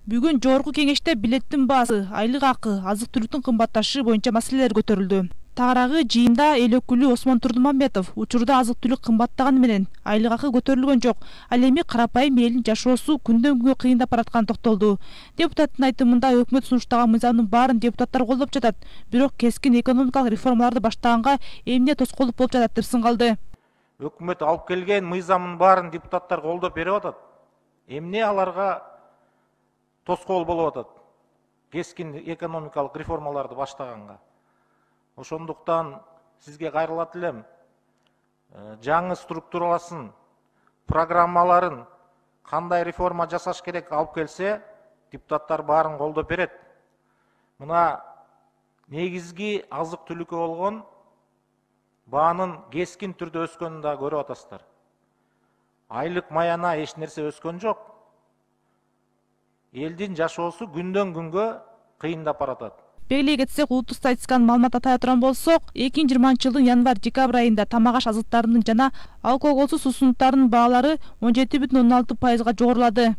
Бүгүн жогорку кеңеште билеттин баасы, айлык акы, азык-түлүктүн кымбатташы боюнча маселелер көтөрүлдү. Тагыраагы жыйында эл өкүлү Осмон Турдумамбетов учурда азык-түлүк кымбаттаганы менен айлык акы көтөрүлгөн жок. Ал эми карапайым элдин жашоосу күндөн күнгө кыйындап баратканын токтолду. Депутаттын айтымында өкмөт сунуштаган мыйзамдын баарын депутаттар колдоп жатат, бирок кескин экономикалык реформаларды баштаганга эмне тоскоолдук болуп жатат деп сынгалды. Өкмөт алып келген мыйзамдын баарын депутаттар колдоп берип атат. Эмне аларга тоскоол болуп атат? Кескин экономикалык реформаларды баштаганга. Ошондуктан сизге кайрылат элем. Жаңы структураласын, программаларын кандай реформа жасаш керек алып келсе, депутаттар баарын колдоп берет. Мына негизги азык-түлүккө болгон баанын кескин түрдө өскөнүн да көрүп атасыздар. Айлык маяна эч нерсе өскөн жок. Элдин жашоосу күндөн күнгө кыйындап баратат. Белгилей кетсек, улуттук статистиканын маалыматына тая турган болсок, 2020-жылдын январь-декабрь айында тамак-аш азыктарынын жана алкоголсуз суусундуктардын баалары 17,16%-га жогорулады.